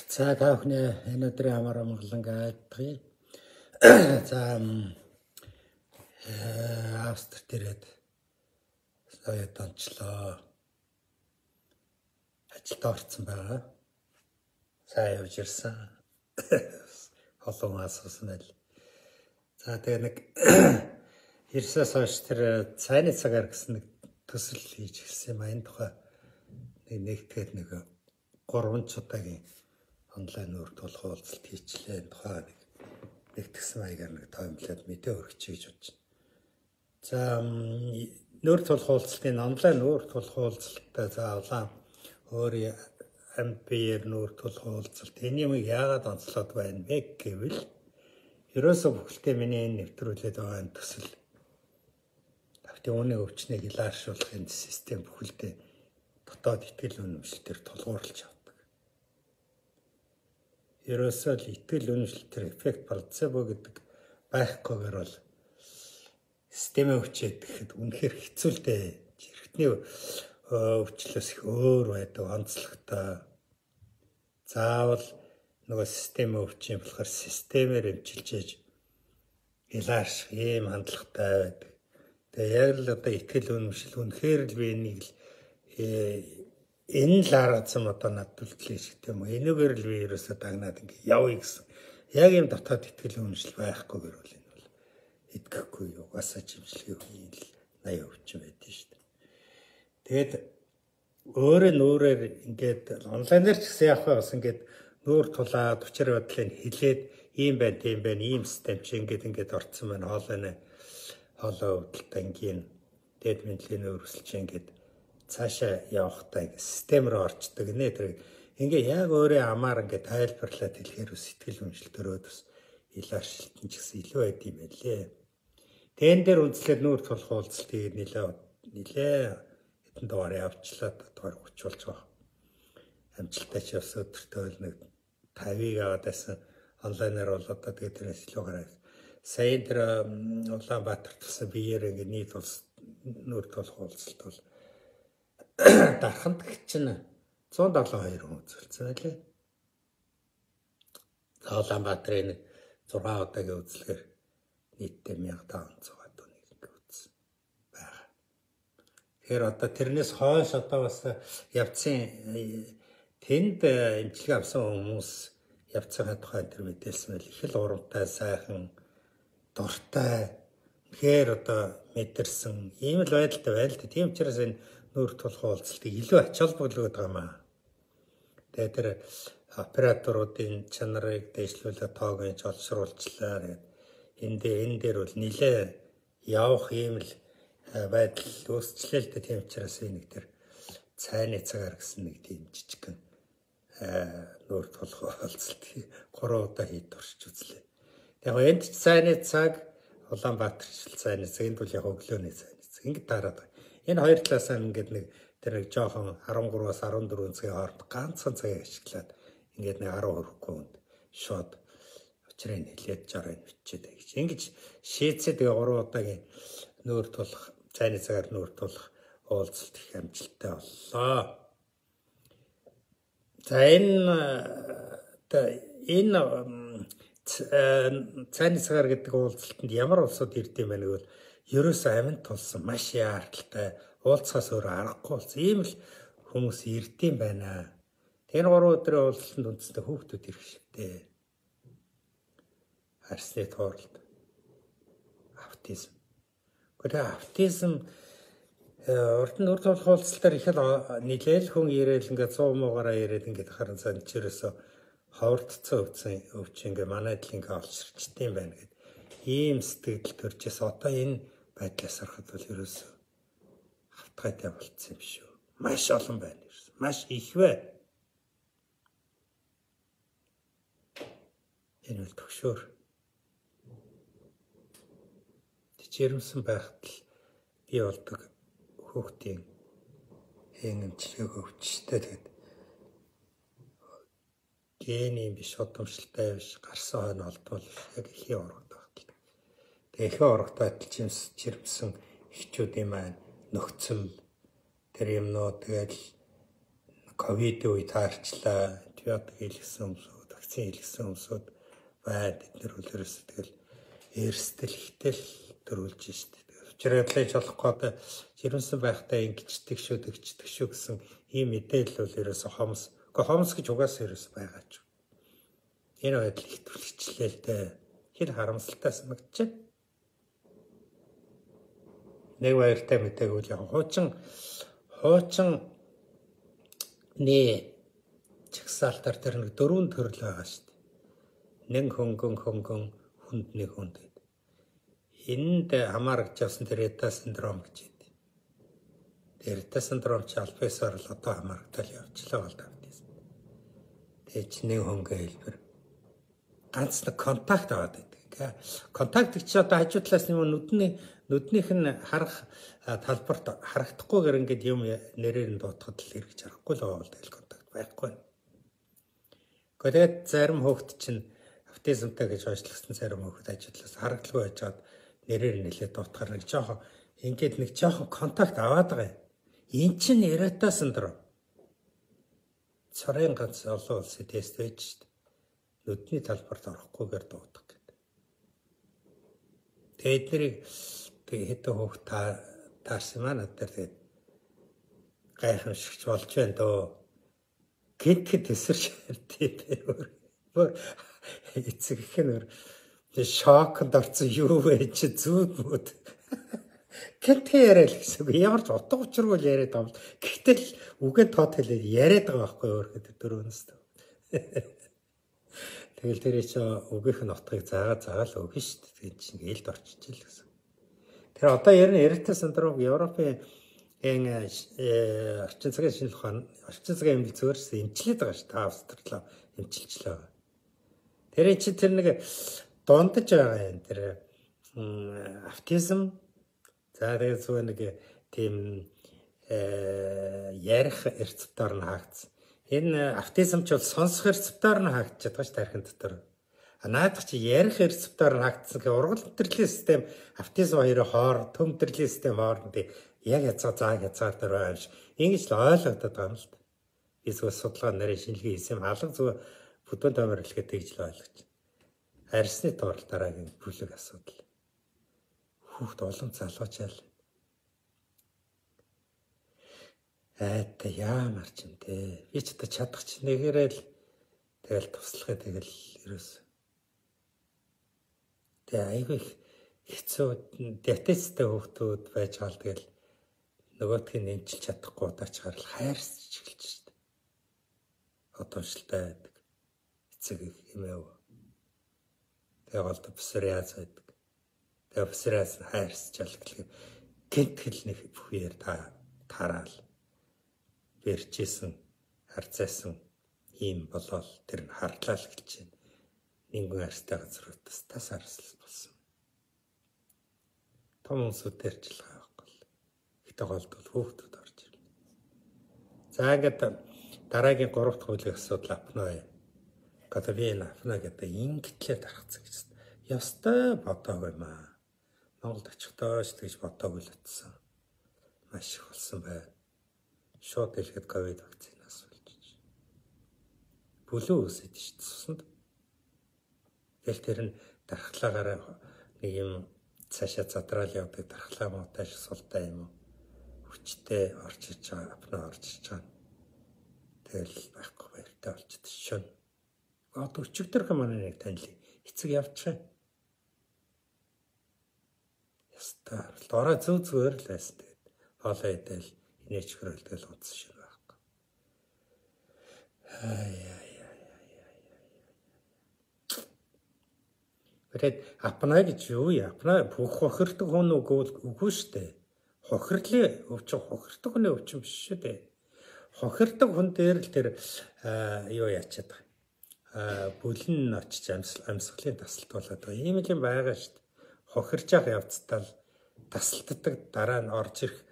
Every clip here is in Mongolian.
За та бүхний энэ өдрийн амар амгалан гайдгий. За Австрид ирээд соёд онцлоо. Ажилд орсон байгаа. Сайн явж ирсэн. Олон асуусан байл. За тэгээ нэг ерсөөс хойш тэр цайны цагаар гэсэн нэг төсөл хийж ирсэн юм. Энэ тухай нэгтгэхэд нэг 3 удаагийн онлайн нүүр тулах уулзалт хийчлээ. Энэ тухай нэгтгсэн маягаар нэг тоомлоод мэдээ өргөчих гэж бодож байна. За нүүр тулах уулзалтын онлайн нүүр тулах уулзалтаа заавал өөрийн ампер нүүр тулах уулзалт энэ юм яагаад онцлоод байна вэ гэвэл ерөөсөө бүхэлдээ миний энэ нэвтрүүлээд байгаа энэ төсөл тавтын үүний өвчнийг илааршуулах энэ систем бүхэлдээ дотоод итгэл үнэмшлэлээр тулгуурлаж авдаг. Ерөөсөө л итгэл үнэмшлэлээр эффект плацебо гэдэг байхгүйгээр бол системээ өвчээд гэхэд үнэхээр хэцүү л дээ. Жирхтний өвчлөөс их өөр байдаг онцлогтой. Заавал нөгөө системээ өвчин болохоор системээр эмчилж илаарших ийм хандлагатай байдаг. Тэгээ яг л одоо итгэл үнэмшил үнэхээр л би энийг л энэ л аргацсан одоо надад үлдлээ шиг тийм үү. Энэгээр л би ерөөсөө дагнаад ингэ явъя гэсэн. Яг юм дотоод итгэл үнэмшил байхгүйгээр бол энэ бол итгэхгүй угаасаа жимшлэгийн үеийн л 80 өвчин байдэн шүү дээ. Тэгээд өөрөөр ингээд онлайнаар ч гэсэн явах бас ингээд нүүр тулаад учир бодлыг хэлээд ийм байна, тийм байна, ийм систем чи ингээд орцсон байна, хоолой өвдөлтөй ингийн дэд мэдлэгийн өрсөлж ингээд цаашаа явахтай систем рүү орчдөг нэ тэр ингээ яг өөрөө амаар ингээ тайлбарлаад хэлэхээр сэтгэл үнэмшилтөрөөд бас илааршилтэн ч гэсэн илүү байд юм байлээ. Тэн дээр үнслээд нүүр тулах уулзалтыг нилээ хэдэн дугаар явчлаа дугаар 30 болж байгаа. Амжилттай ч бас өдөртөө л нэг 50-ыг аваад байсан онлайнаар бол одоо тэгээд тэрээс илүү гараад сая тэр Улаанбаатар тусан биеэр ингээ нийт улс нүүр тулах уулзалт бол дарханд чинь 172 хүн үзүүлсэн байлээ. Улаанбаатарын 6 удаагийн үзлэгээр нийтдээ 1500 тонн үзсэн байгаа. Тэгэхээр одоо тэрнээс хойш одоо бас явцсан тэнд эмчилгээ авсан хүмүүс явцсан тухай тэр мэдээлсэн байл их л урамтай, сайхан, дуртай. Тэгэхээр одоо мэдэрсэн ийм л байдалтай байл. Тийм учраас энэ нүүр тулах уулзалтыг илүү ач холбогдол гэдэг юм аа. Тэгээд тэр операторуудын чанарыг дэвшлүүлээ тоог нь олшруулчлаа. Энэ дээр бол нилээ явах ийм л байдал үүсчлээ л дээ. Тийм учраас нэг тэр цайны цагаар гэсэн нэг тийм жижиг нүүр тулах уулзалт 3 удаа хийд туршиж үзлээ. Яг энд ч цайны цаг, Улаанбаатар цайны цаг, энд бол яг өглөөний цайны цаг. Ингээд дараад энэ хоёр талаас нь ингээд нэг тэр нэг жоохон 13-аас 14 цагийн хооронд ганцхан цагийг ашиглаад ингээд нэг 10 хүрэхгүй хүнд шууд учрыг хэлээд жарыг бичээд гэж. Ингэж шийдсээ тэгээ 3 удаагийн нүүр тулах, цайны цагаар нүүр тулах уулзалт их амжилттай боллоо. За энэ цайны цагаар гэдэг уулзалтанд ямар улсууд ирдэм байх вэ? Ерөөсөө аминд тулсан маш яаралтай уулзахаас өөр аргагүй болсон. Ийм л хүмүүс ирдэм байна. Тэр 3 өдрийн уулзалтанд үндсэндээ хүүхдүүд ирэх шигтэй. Арсны тууралт, автизм. Гэхдээ автизм урд нь нүүр тулах уулзалтаар их л нийлээл хүн ирээл ингээд 100 муугаараа ирээд ингээд харан цаанд чирээсөө ховордцсон өвчин ингээд манайд л ингээд олширчдсан байна гэд. Ийм сэтгэл төржээс одоо энэ байдлаас харахад бол ерөөсөө хавтгайтай болцсон юм шүү. Маш олон байна ерөөсөө. Маш их бай. Энэ бол төгшөөр. Жирэмсэн байхад л бий болдог хүүхдийн эмчилгээг өвчтэй тэгээд гений биш удамшилтай биш гарсан хойно олдвол яг ихийн урагт багтал. Тэгээд ихийн урагт байтал жирэмсэн эхчүүдийн маань нөхцөл тэр юмнууд тэгэл ковид үе таарчлаа, антибиотик хийлгсэн өмсүүд, вакцин хийлгсэн өмсүүд байна. Эдгээр үлээрээс тэгэл эрсдэл ихтэл төрүүлж штэ. Учирлаж болох гээд жирэмсэн байхдаа ингэждэг шүү гэсэн ийм мэдээлэл бол ерөөсө хомс. Хомс гэж угаасаа ерөөсө байгаа ч. Энэ байдал их түлхчлээ л дээ. Хэр харамсалтай санагдчих. Нэг баяртай мэдээгүй яг хуучин чагсаалтар тэр нэг 4 төрөл байгаа шүү дээ. Нэг хөнгөн хүндний хүнд. Энд хамаарч явсан тэр Рета синдром гэж байдаг. Тэр Рета синдром ч альфасаар л одоо хамаарагдал явчлаа бол тавьдээс. Тэгээ чи нэг хөнгөө хэлбэр ганц нэг контакт аваад байдаг. Контакт чи одоо хажуу талаас нүднийх нь харах талбарт харагдахгүйгээр ингээд юм нэрээр нь дуутахад л эргэж харахгүй л байгаа бол тэгэл контакт байхгүй. Тэгээд зарим хүүхэд чинь автизмтай гэж ойлгосон зарим хүүхэд хажуу талаас харагдaltaгүй байжгаад нэрээр нэлээд дуутахаар нэг жоохон контакт аваад байгаа юм. Эн чинь Рета синдром. Цорын ганц олон улсын тест байж шүү дээ. Нүдний талбарт орохгүйгээр дуутах гэдэг. Тэгээд хэдэн хүүхд таарсан маа надад тэгээд гайхамшигч болж байна дөө. Гэт эсэрч ярьдээ. Эцэг их нөр шокнд орсон юу вэ чи зүудмүүд. Гэт яриа л гэсэн. Ямар ч утга учиргүй яриад байгаа юм. Гэхдээ үгээ тод хэлээд яриад байгаа байхгүй өөрөө дөрөвнөс. Тэгэл тэр чи үгийнх нь утгыг заагаал өгнө шүү дээ. Тэгээд чинь ээлд орчиж л гэсэн. Тэр одоо Рета синдром Европын орчин цагийн шинжилгээ ухаан орчин цагийн эмнэлэг зөвөрсөн эмчилээд байгаа шүү дээ. Австралиа эмчилжлээ. Тэр чи тэр нэг дундаж байгаа юм. Тэр автизм тэгээд зөв нэг тийм ярих рецептор нь хаагдсан. Энэ автизм ч бол сонсох рецептор нь хаагдчихад байгаа ш тархин дотор. Наадах чи ярих рецептор нь хаагдсан гэх ургал мэдрэлийн систем автизм хоёрын төв мэдрэлийн систем хооронд яг хязгаар дээр байгаа юм шиг. Ингэж л ойлгогдоод байгаа юм л та. Эсвэл судалгаа нарийн шинжилгээ хийсэн хаалга зөв бүдүүн томор хэлгээд тэгж л ойлгож. Арсны тоор дараагийн бүлэг асуудал. Хүүхд олон залуучаал. Та яамар ч юм те. Би ч одоо чадах ч нэгээрээ л тэгэл туслахыг тэгэл ерөөс. Тэгээ айгүй хэцүү диабетестэй хүүхдүүд байж гал тэгэл нөгөөдгийг нэмчилж чадахгүй удаач гарал хайрсч эхэлж штэ. Одоошилтай байдаг. Эцэг хэмээв. Тэгээ голд псориаз байдаг. Тэгээ псориаз хайрсч алгалыг гинтгэл нэг бүхээр тараал. Бэрчээсэн харцаасан ийм болол тэр нь хардлаа л гэлж байна. Нэгэн арстай газруудаас тас арслал болсон. Том хүмүүсээр ч л байхгүй. Гэтэ голдвол хүүхдүүд орж ирлээ. За ингээд дараагийн 3 дахь хуулийн асуудал апноэ. Гадавин апноэ гэдэг ингэтлээ тархацсан гэж. Ёстой бодоогүй маа. Монголд очихдоо ч тэгж бодоогүй л утсан. Маш их болсон байна. Шууд хэлэхэд ковид вакцинаас болж. Бүлүү үсэж цуснд. Тэгэл тэр нь дархлаагаараа нэг юм цаашаа задраал явдаг дархлаа муутай шиг султай юм уу? Хүчтэй орж иж байгаа, апно орж иж байгаа. Тэгэл байхгүй баяртай болчихд шөн. Одоо өчигдөр манай нэг танил эцэг явчихсан. Яста ороо зүгээр л байсан тэгээд хоолоо идэл инээч хөрөлдөл унтсан шиг байхгүй. Тэгээд апна гэж юу яа? Апна бүх хохирдог хүн үгүй штэ. Хохирлын өвчин хохирдог хүний өвчин биш шүү дээ. Хохирдог хүн дээр л тэр юу яачаад байгаа. Бүлэн очиж амьсгалын тасалт болоод байгаа. Ийм л юм байгаа штэ. Хохирж явах явцдаа л тасалддаг дараа нь орж ирэх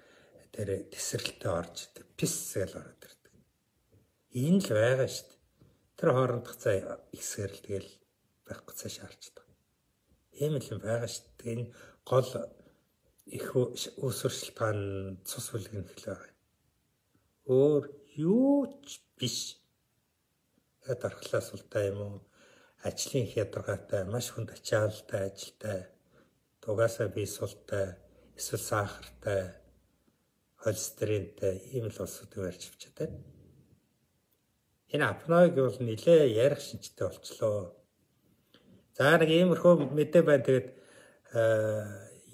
тэр тесрэлтэй орж идэг. Пис гэж ороод ирдэг. Энэ л байгаа штэ. Тэр хоорондох цай ихсгэр л тэгэл байхгүй цааш харчдаг. Ийм л юм байгаа штэ. Энэ гол их усвар шилтгаан цус бүлгэн хэл байгаа. Өөр юу ч биш. дархлаас ултай юм уу? Ажлын хязгаартай, маш хүнд ачаалалтай ажилтай, дугаасаа бие султай, эсвэл сахартай, холестеринтэй ийм л улсуудыг барьж авчаад байна. Энэ апноег бол нэлээ ярих шинжтэй болчлоо. За нэг иймэрхүү мэдээ байна. Тэгээд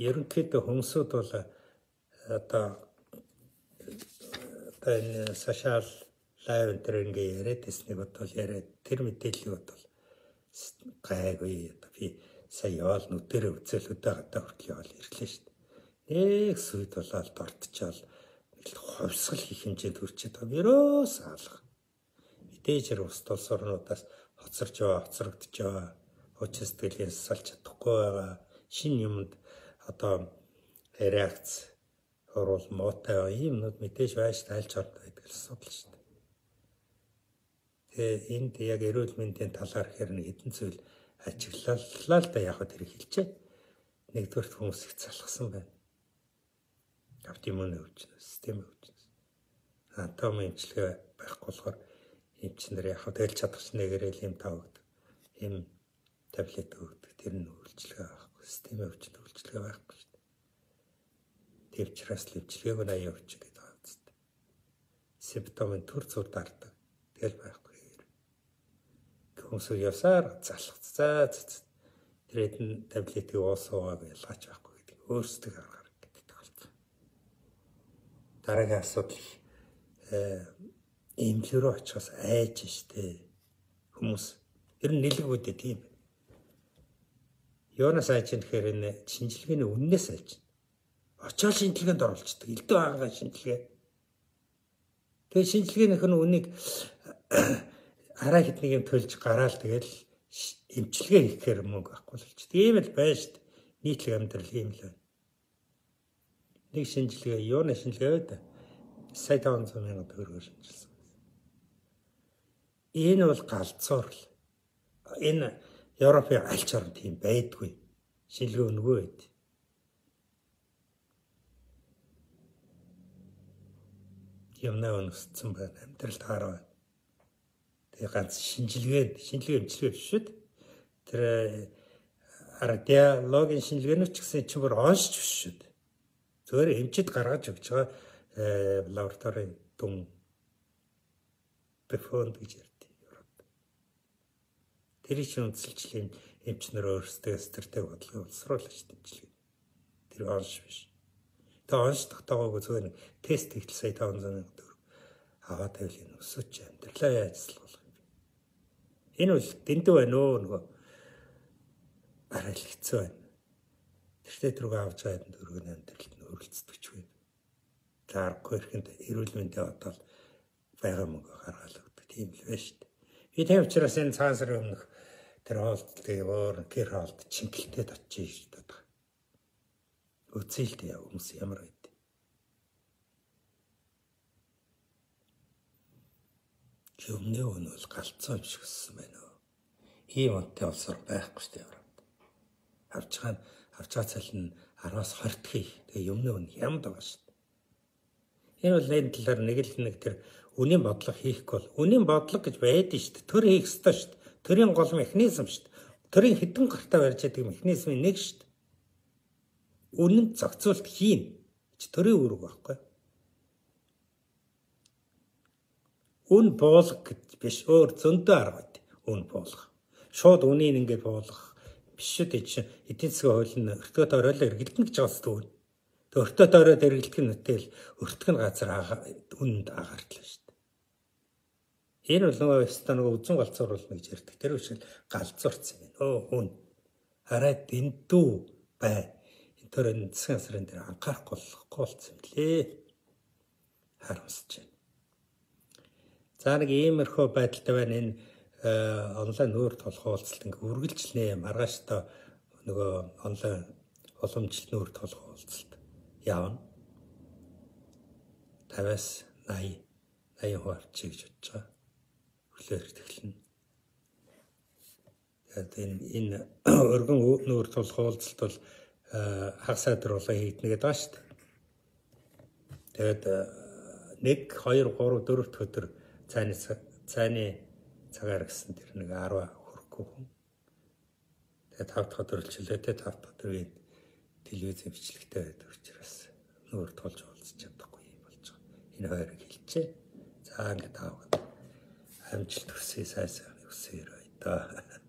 ерөнхийдөө хүмүүсүүд бол одоо энэ сошиал лайв дээр ингээ яриад ирснийг бодвол яриад тэр мэдээллийг бодвол гайгүй. Одоо би сая яваал нүдэрээ үзэл өдөө гадаа хүртэл яваал ирлээ шүү дээ. Нэг сүйд болоод дортчаал хувьсгал хийх хэмжээнд хүрчээд байгаа. Ерөөс алга. Мэдээж ус тулс орнуудаас хоцрогдож байгаа. Хүч сэтгэлээс салж чадахгүй байгаа. Шинэ юмд одоо реакц орол муутай юмнууд мэдээж байж тайлж ордог гэдэг асуудал шүү дээ. Тэгээ энд яг эрүүл мэндийн талаар хэрэг хэдэн зүйл ажиглалаа л да яг тэр хэлчээ. Нэгдүгээр хүмүүс их залхсан байна. Оптимум өвчин, систем өвчин. Атом эмчилгээ байхгүй болохоор эмчнэр яг тэгэл чадахч нэгэрэл юм тавдаг. Им таблет өгдөг. Тэр нь үйлчлэгээ байхгүй. Систем өвчин үйлчлэгээ байхгүй шүү дээ. Тэвчраас л эмчилгээг нь аяа өвчин гэдэг байгаа юм зү. Симптомын төр зур дардаг. Тэгэл байхгүй. Хүмүүс явсаар залхацаа. Тэр хэдэн таблетыг уусаагаа ялгаач байхгүй гэдэг. Өөрсдөө аргаар гэдэг болсон. Дараагийн асуудал эмнэлгэрөө очихоос айж штэ. Хүмүүс ер нь нэлгүүдээ тийм. Юунаас айж гэхээр энэ шинжилгээний үннээс айж. Очоод шинжилгээнд оруулцдаг. Элдв аагаа шинжилгээ. Тэгээ шинжилгээнийх нь үнийг арай хэднийг юм төлж гараал тэгэл эмчилгээ хийхээр мөнгө авахгүй л ч. Тийм л байна шүү дээ. Нийтлэг амьдрал ийм л байна. Нэг шинжилгээ юуны шинжилгээ вэ? Сая 500,000 төгрөгөөр шинжилсэн. Энэ бол галзуурл. Энэ Европын аль ч орнд тийм байдгүй. Шинжилгээ өнгөө байд. Юмнаа өнөсцсөн байна. Амьдралд хараа. Тэгээ ганц шинжилгээ эмчилгээ биш шүү дээ. Тэр радиологийн шинжилгээнүүд ч гэсэн чи бүр оншч биш шүү дээ. Зөвөр эмчид гаргаж өгч байгаа лабораторийн дүн бэфонд гэж ярьдаг Европ. Тэр чинь үндэслэлийн эмчнэр өөрсдөө стратеги бодлого боловсруулж шинжилгээ. Тэр онш биш. Тэгээ онш тогтоогоогүй зөвөр тест хийх сая 500,000 төгрөг аваад тавил өсөж амьдралаа ажиллах. Энэ бол дэндүү байна өө нөгөө арай л хэцүү байна. Тэртээ түрүү авч байгаа дөрөв амьдралд нь өрөлцдөг ч вэ. Таарахгүй ихэнд эрүүл мэндийн одоо байгаа мөнгө гаргаал өгдөг тийм л байна шүү дээ. Би тийм учраас энэ цагаан сарын өмнөх тэр хоолтыг өөр гэр хоолт чингэлтэд очиж шүү дээ. Үцээлтэй хүмүүс ямар байд. Юмны өн бол галцсан юм шиг өссөн байна уу. Ийм онтой олсоор байхгүй шүү дээ Европт. Авч байгаа цал нь 10-аас 20 дэх. Тэгээ юмны өн хямд байгаа шүү дээ. Энэ бол энэ талаар нэг тэр үнийн бодлого хийхгүй бол үнийн бодлого гэж байдаг шүү дээ. Төр хийх ёстой шүү дээ. Төрийн гол механизм шүү дээ. Төрийн хэдэн гартаа барьж байгаа механизмын нэг шүү дээ. Үнэнд зохицуулт хийн. Төрийн үүрэг байхгүй. Үн буулгах гэж биш өөр зөндөө арга байд. Үн буулгах. Шууд үнийг ингээд буулгах биш шүү дээ чинь эдийн засгийн хууль нь өртгөд оройлоо эргэлдэнэ гэж байгаа зү. Тэг өртгөд ороод эргэлдэх нь үтэл өртгөн газар үнд агаардлаа шүү дээ. Энэ бол нөгөө станог үзэн галзууруулна гэж ярьдаг. Тэр үчил галзуурсан юм. Үн хараа дэндүү бай. Энэ төрөнд засгийн сарын дээр анхаарахгүй болсон юм лээ. Харамсаж байна. За нэг иймэрхүү байдалтай байна энэ онлайн нүүр толгой уулзалт ингээ үргэлжлэнэ маргааш та нөгөө онлайн уламжлалт нүүр толгой уулзалт явна. 50-аас 80% авчиг гэж бодож байгаа. Өглөөр тэглэнэ. Тэгээд энэ өргөн нүүр толгой уулзалт бол хагас өдрөлөө хийгднэ гэдэг байна шүү дээ. Тэгээд 1, 2, 3, 4 өдөр цааны цагаар гэсэн тэр нэг 10 хүрэхгүй хүн. Тэгээ 5 дахь өдөр хөлчлөө те 5 дахь өдрийн телевизэн бичлэгтэй байдаг учраас нүүр тулж уулзч чадахгүй болж байгаа. Энэ хоёрыг хэлчихэ. За ингээд таавал амжилт хүсье, сайн хүсье өрөө.